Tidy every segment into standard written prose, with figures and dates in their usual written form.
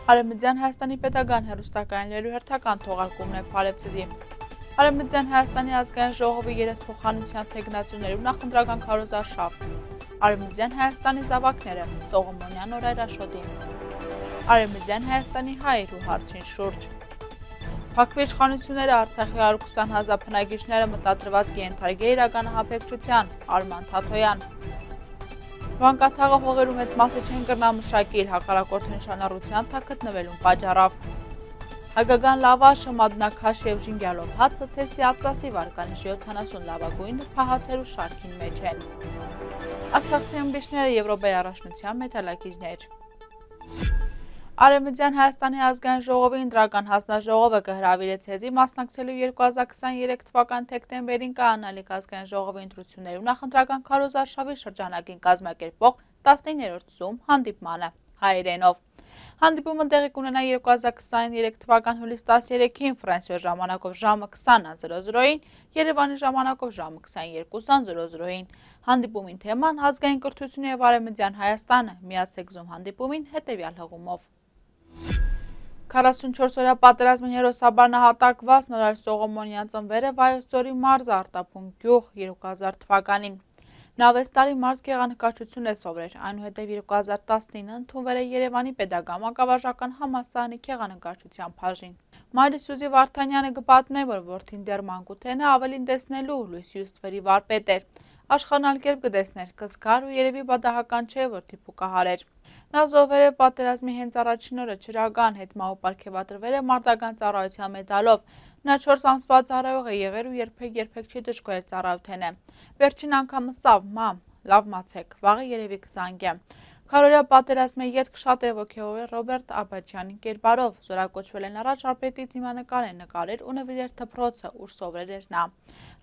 Արևմտյան Հայաստանի պետական հեռուստակայաններու հերթական թողարկումն է Փարեվցիզի։ Արևմտյան Հայաստանի ազգային ժողովի երեսփոխանության թեկնածուներու նախընտրական քարոզարշավ։ Արևմտյան Հայաստանի զավակները Սողոմոնյան օրայրաշոդին։ Արևմտյան Հայաստանի հայերու հարցին շուրջ։ Փակվի իշխանությունները Արցախի 120,000 բնակիչները մտադրված կենթարկել իրականահապեկչության Արման Թաթոյան։ Վանկաթաղը հողերում հետ մասը չեն կրնամշակել հակառակորդի նշանառության թաքտնվելուն պատճառով։ Հայկական լավաշը մադնակաշ եւ ժինգյալով հացը թեստի ատլասի վարկանիշի 70 լավագույն փահացերու շարքին մեջ են։ Արցախցի ըմբիշները Եվրոպայի առաջնության մեթալակիչներ։ Արևմտյան Հայաստանի ազգային ժողովի ընտրական հանձնաժողովը կհրավիրեց հեզի մասնակցելու 2023 թվական դեկտեմբերին կայանալիք ազգային ժողովի ընտրություններու նախընտրական քարոզարշավի շրջանակին կազմակերպող 19-րդ Zoom հանդիպմանը հայերենով։ Հանդիպումը տեղի կունենա 2023 թվական հուլիս 13-ին Ֆրանսիոյի ժամանակով ժամը 20:00-ին, Երևանի ժամանակով ժամը 22:00-ին։ Հանդիպումին թեման ազգային կրթությունը եւ Արևմտյան Հայաստանը միացեք Zoom հանդիպումին հետեւյալ հղումով։ 44-օրյա պատերազմին հերոսաբար նահատակված Նորայր Սողոմոնյան ծնվել է Վայոց ձորի մարզ Արտափուն գյուղ 2000 թվականին։ Նա 6 տարի մարզ գեղանկարչություն է սովորել, այնուհետև 2019 ընդունվել է Երևանի Պետական մանկավարժական համալսարանի գեղանկարչության բաժին։ Մայրը Սյուզի Վարդանյանը կպատմի, որ որդին դեռ մանկութեն է ավելին տեսնելու Լույս Հյուստվերի վարպետ էր։ Աշխանալ կերպ կտեսներ, կզգար ու երևի բադահական չէ, որ թիփուկահար էր։ Նա զոհվել է պատերազմի հենց առաջին օրը Չրագան հետմահու պարգևատրվել է մարտական ծառայության մեդալով։ Նա 4 ամսվա ծառայող է եղել ու երբեք չի դժգոհել ծառայութենը։ Վերջին անգամը սավ, մամ, լավ մացեք, վաղը երևի կզանգեմ։ Քարորյա պատերազմի ետք շատ է ոգևորել Ռոբերտ Աբաջյանի կերպարով, զորակոչվել են առաջ արպետի դիմանկար է նկարել ու նվիրել դպրոցը, ուր սովորել էր նա։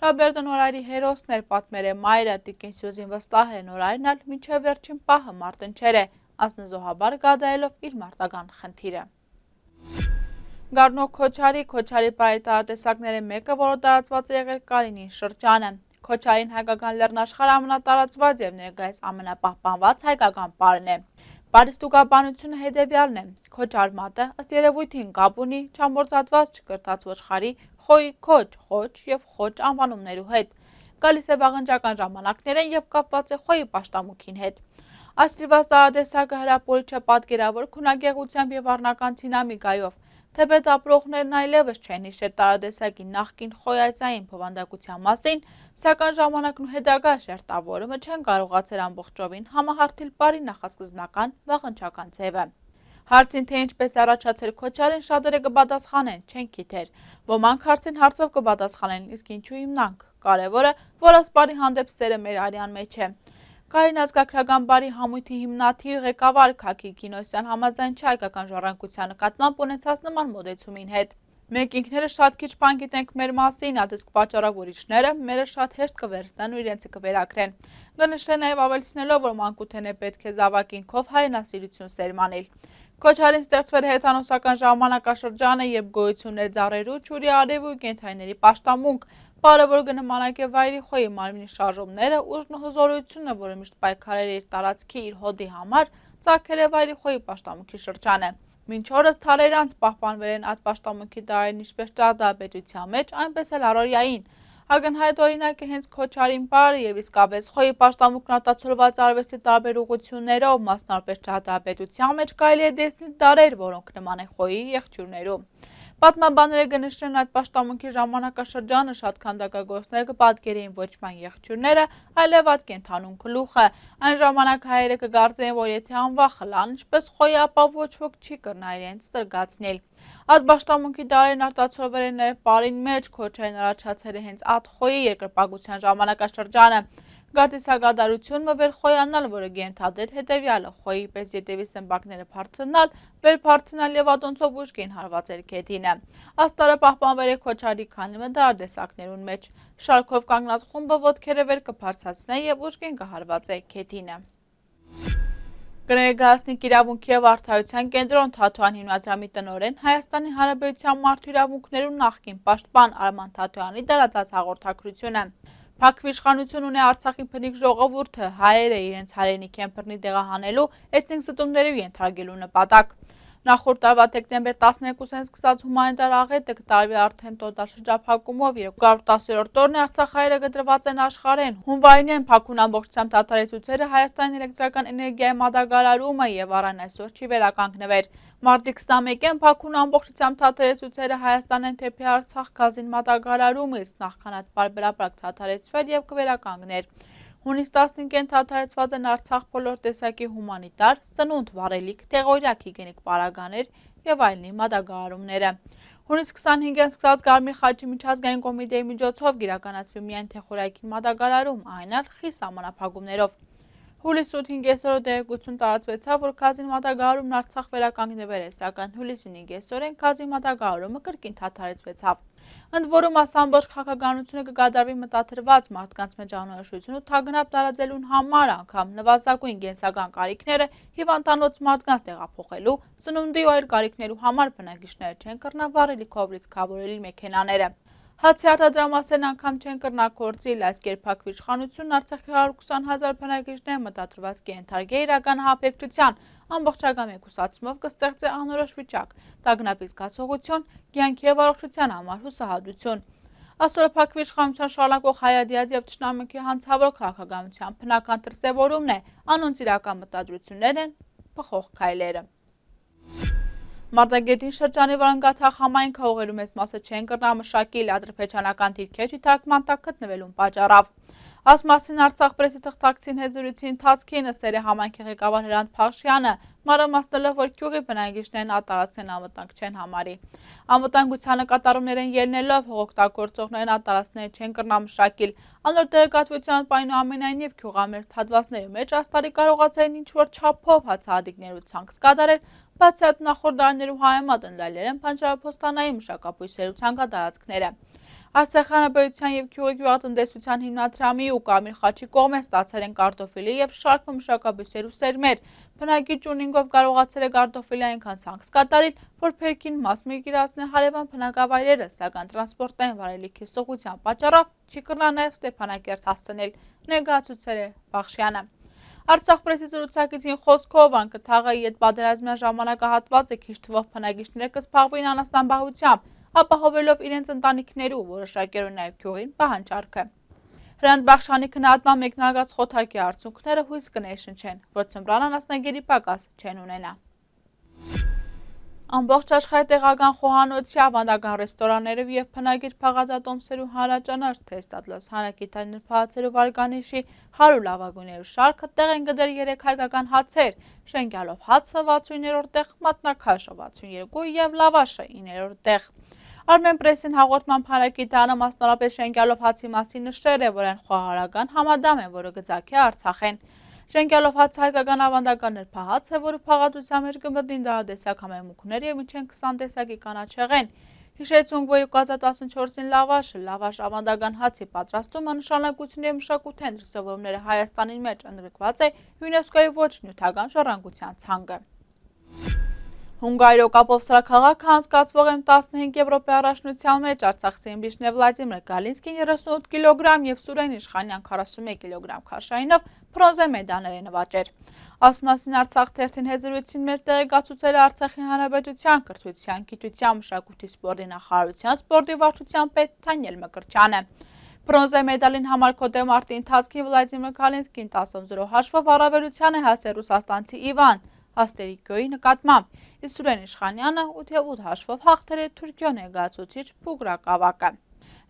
Ռոբերտը Նորայրի հերոսն էր, պատմել է մայրը, տիկին Սյուզին վստահ է, Նորայրն էլ մինչև վերջին պահը մարտնչեր է, անձնազոհաբար գադայելով իր մարտական խնդիրը։ Գառնո Քոչարի պարիտարատեսակների մեկը, որը տարածված է եղել Կարինի շրջանը։ Քոչարին հայկական լեռնաշխարհ ամենատարածված եւ ներկայիս ամենապահպանված հայկական պարն է։ Պարիստուկաբանությունը հետևյալն է։ Քոչար մատը ըստ երևույթին կապ ունի չամորձատված չկրտած ոչխարի խոյ, խոչ եւ խոչ անվանումներու հետ։ Գալիս է վաղնջական ժամանակներեն եւ կապված է խոյի պաշտամունքին հետ։ Աստիվաս տարատեսակը հրապորիչ է պատկերավոր քունագեղությամբ եւ առնական դինամիկայով։ Թեպետ ապրողներն այլևս չեն հիշել տարատեսակի նախկին խոյացային բովանդակության մասին, սակայն ժամանակն ու հետագա շերտավորումը չեն կարողացել ամբողջովին համահարթել պարի նախասկզբնական վաղնջական ձևը։ Հարցին թե ինչպես առաջացել Քոչարին շատերը կպատասխանեն, չեն գիտեր։ Ոմանք հարցին հարցով կպատասխանեն, իսկ ինչու հիմնանք։ Կարևորը, որ ասպարի հանդեպ սերը մեր արյան մեջ է։ Կարին ազգագրական բարի համույթի հիմնադիր ղեկավար Քակի Կինոսյան համաձայն չէ հայկական ժառանգության նկատմամբ ունեցած նման մոտեցումին հետ։ Մենք ինքները շատ քիչ բան գիտենք մեր մասին, ադիսկ պատճառով ուրիշները մերը շատ հեշտ կվերցնեն ու իրենց կվերակրեն։ Կնշեն նաև ավելցնելով, որ մանկութեն է պետք է զավակինքով հայրենասիրություն սերմանել։ Քոչարին ստեղծվել է հեթանոսական ժամանակաշրջանը, երբ գոյություն էր ծառերու, ջուրի արևի ու կենդանիների պաշտամունք, պարը, որ կնմանակե վայրի խոյի մարմնի շարժումները, ուժն ու հզորությունը, որը միշտ պայքարել է իր տարածքի իր հոդի համար, ծագել է վայրի խոյի պաշտամունքի շրջանը։ Մինչ օրս թալերանց պահպանվել են այդ պաշտամունքի տարերն ինչպես ճարտարապետության մեջ, այնպես էլ առօրյային։ Ակնհայտ օրինակ է հենց Քոչարին պարը եւ իսկապես խոյի պաշտամունքն արտացոլված արվեստի տարբեր ուղղություններով, մասնավորապես ճարտարապետության մեջ կարելի է տեսնել տարեր, որոնք նման են խոյի եղջյուրներու։ Պատմաբանները կնշեն այդ պաշտամունքի ժամանակաշրջանը շատ քանդակագործներ կպատկերեին ոչ միայն եղջյուրները, այլև այդ կենդանուն գլուխը։ Այն ժամանակ հայերը կգարձեին, որ եթե անվախ խլան, ինչպես խոյի, ապա ոչ ոք չի կրնա իրենց ստրգացնել։ Այդ պաշտամունքի տարերն արտացոլվել են նաև պարին մեջ, Քոչարին առաջացել է հենց այդ խոյի երկրպագության ժամանակաշրջանը։ Գարտիսագադարությունը վեր խոյանալ, որը գենթադեր հետևյալը, խոյի պես ետևի սմբակները բարձրնալ, վեր բարձրնալ եւ ատոնցով ուժգին հարվածել քեթինը։ Աստարը պահպանվել է Քոչարի քանի մդար տեսակներուն մեջ։ Շարքով կանգնած խումբը ոտքերը վեր կբարձրացնե եւ ուժգին կհարվածե քեթինը։ Կներկայացնի իրավունքի եւ արդարության կենտրոն Թաթոյան հիմնադրամի տնօրեն Հայաստանի Հանրապետության մարդու իրավունքներու նախկին պաշտպան Արման Թաթոյանի դարածած հաղորդակցությունը։ Փակվի իշխանություն ունի Արցախի բնիկ ժողովուրդը, հայերը իրենց հայրենիք են բռնի տեղահանելու, էթնիկ զտումների ենթարկելու նպատակ։ Նախորդ տարվա դեկտեմբեր 12-ին սկսած հումանիտար աղետը կտարվի արդեն տոտալ շրջափակումով 210-րդ օրն է Արցախ հայերը գտրված են աշխարհեն։ Հունվարին փակուն ամբողջությամբ դադարեցուցերը Հայաստանի էլեկտրական էներգիայի մատակարարումը եւ առան այսօր չի վերականգնվեր։ Մարտի 21-ին փակուն ամբողջությամբ դադարեցուցերը Հայաստանեն թեպի Արցախ գազին մատակարարումը իսկ նախքան այդ բարբերաբար դադարեցվել եւ կվերականգներ։ Հունիս 15-ին դադարեցված են Արցախ բոլոր տեսակի հումանիտար, սնունդ, վառելիք, տեղօրյա հիգիենիկ պարագաներ եւ այլնի մատակարարումները։ Հունիս 25-ին սկսած Գարմիր խաչի միջազգային կոմիտեի միջոցով կիրականացվի միայն թեխորայքի մատակարարում, այն էլ խիստ սահմանափակումներով։ Հուլիսի 8-ին կեսօրը տեղեկություն տարածվեցավ, որ գազի մատակարարումն Արցախ վերականգնվել է, սակայն հուլիսի 9-ին կեսօրին գազի մատակարարումը կրկին դադարեցվեցավ։ Ընդ որում ամբողջ քաղաքականությունը կկատարվի մտադրված մարդկանց մեջ անորոշություն ու թագնապ տարածելուն համար, անգամ նվազագույն կենսական կարիքները հիվանդանոց մարդկանց տեղափոխելու, սնունդի ու այլ կարիքներու համար բնակիչները չեն կրնա վառելիքով լիցքավորելի մեքենաները։ Հացի արտադրամասերն անգամ չեն կրնա գործիլ, այս կերպակվի իշխանությունն Արցախի 120,000 բնակիչներ մտադրված կենթարկի իրական հապեկչության, ամբողջական մեկուսացումով կստեղծի անորոշ վիճակ, տագնապի զգացողություն, կյանքի եւ առողջության համար հուսահատություն։ Այսօր փակվի իշխանության շարունակող հայադիաձ եւ թշնամքի հանցավոր քաղաքականության բնական դրսեւորումն է, անոնց իրական մտադրություններն են փոխող քայլերը։ Մարտագետին շրջանի վրանգաթաղ համայնքը հողերու մեծ մասը չեն կրնա մշակել ադրբեջանական դիրքեր թույթարկման տակ գտնվելուն պատճառով։ Այս մասին Արցախ պրեսի թղթակցին հետ զրույցի ընթացքին ըստ համայնքի ղեկավար Հրանտ Փախշյանը մանրամասնելով, որ գյուղի բնակիչներն ատարածքն անվտանգ չեն համարի։ Անվտանգության կատարումներ են ելնելով հողօգտագործողներն ատարածքները չեն կրնա մշակել։ Անոր տեղեկատվության այնուամենայնիվ գյուղամերձ հատվածների մեջ աստարի կարողացային ինչ-որ չափով հացահատիկներու ցանց կատարել, բացի այդ նախորդ դարներու հայեմատ ընդլայնել են բանջարափոստանային մշակաբույսերու ցանկատարածքները։ Արցախանաբերության եւ գյուղի գյուղատնտեսության հիմնադրամի ու Կարմիր խաչի կողմեն ստացել են կարտոֆիլի եւ շարք մշակաբույսերու սերմեր։ Բնակիչ ունինգով կարողացել է կարտոֆիլի այնքան ցանց կատարել, որ փերքին մաս մերկիրացնել հարևան բնակավայրերը, սակայն տրանսպորտային վարելիքի սողության պատճառով չի կրնա նաեւ Ստեփանակերտ հասցնել, ներկայացուցել է Փախշյանը։ Արցախ պրեսի զրուցակիցին խոսքով անկթաղի իդ պատերազմյան ժամանակահատվածը քիչ թվով բնակիչները կսփաղվին անասնաբահությամբ, ապահովելով իրենց ընտանիքներու որոշակերու նաև գյուղին պահանջարկը։ Հրանտ Բախշյանի քննադատման մեկնարկած խոթարկի արդյունքները հույս կներշնչեն, որ ցմրան անասնագերի պակաս չեն ունենա։ Ամբողջ աշխարհի տեղական խոհանոցի ավանդական ռեստորաններով եւ բնագիր փաղածատոմսերու հանրաճանաչ թեստ Ատլաս հանրագիտային նրբահացերու վարգանիշի 100 լավագույններու շարքը տեղ են գտել 3 հայկական հացեր՝ շենգյալով հացը 69-րդ տեղ, մատնաքաշը 62 եւ լավաշը 9-րդ տեղ։ Armen Press-ին հաղորդման փառագիտանը մասնավորապես շենգյալով հացի մասին նշել է, որ այն խոհարարական համադամ է, որը գծակի Արցախեն։ Շենգյալով հացը հայկական ավանդական նրբահաց է, որը փաղատության մեջ կմտնի դարադեսակ համեմունքներ եւ մինչեն 20 տեսակի կանաչեղեն։ Հիշեցünk, որ 2014-ին լավաշ ավանդական հացի պատրաստումը նշանակություն եւ մշակութային դրսեւորումները Հայաստանի մեջ ընդգրկված է ՅՈՒՆԵՍԿՕ-ի ոչ նյութական ժառանգության ցանկը։ Հունգարիո կապով սրաքաղաքը անցկացվող M15 Եվրոպայի առաջնության մեջ Արցախցի իմբիչներ Վլադիմիր Գալինսկին 38 կիլոգրամ եւ Սուրեն Իշխանյան 41 կիլոգրամ քաշայինով բրոնզե մեդալներ է նվաճել։ Այս մասին Արցախ թերթին հետ զրույցին մեջ տեղեկացուցել է Արցախի Հանրապետության կրթության, գիտության, մշակույթի, սպորտի նախարարության սպորտի վարչության պետ Թանյել Մկրտչյանը։ Բրոնզե մեդալին համար կոդե մարտի ընթացքի Վլադիմիր Գալինսկին 10-0 հաշվով առավելության է հասել ռուսաստանցի Իվան Աստերիկյոյի նկատմամբ, իսկ Սուրեն Իշխանյանը 8-8 հաշվով հաղթել է Թուրքիո ներկայացուցիչ Փուգրակ ավակը։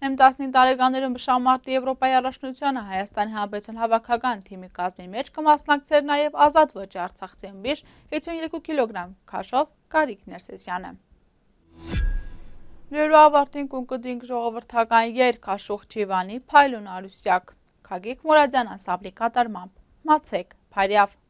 M15 տարեկաններում Բշամարտի Եվրոպայի առաջնությանը Հայաստանի Հանրապետության հավաքական թիմի կազմի մեջ կմասնակցեր նաև ազատ ոճի արցախցի ըմբիշ 52 կիլոգրամ քաշով Գարիկ Ներսեսյանը։ Լուրու ավարտին կունկդինք ժողովրդական երգ Աշուխ Չիվանի Փայլուն Արուսյակ Քագիկ Մուրադյան անսամբլի կատարմամբ Մացեք Փարյավ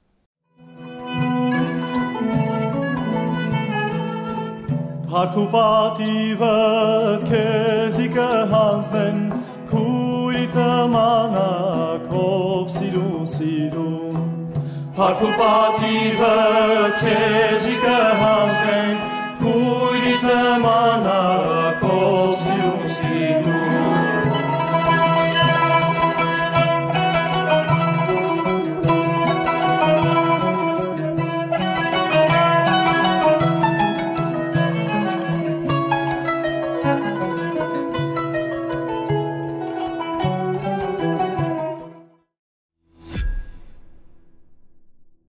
Հարկ ու պատիվդ քեզի կհանձնեն քույրիդ նմանակ ով սիրում Հարկ ու պատիվդ քեզի կհանձնեն քույրիդ նմանակ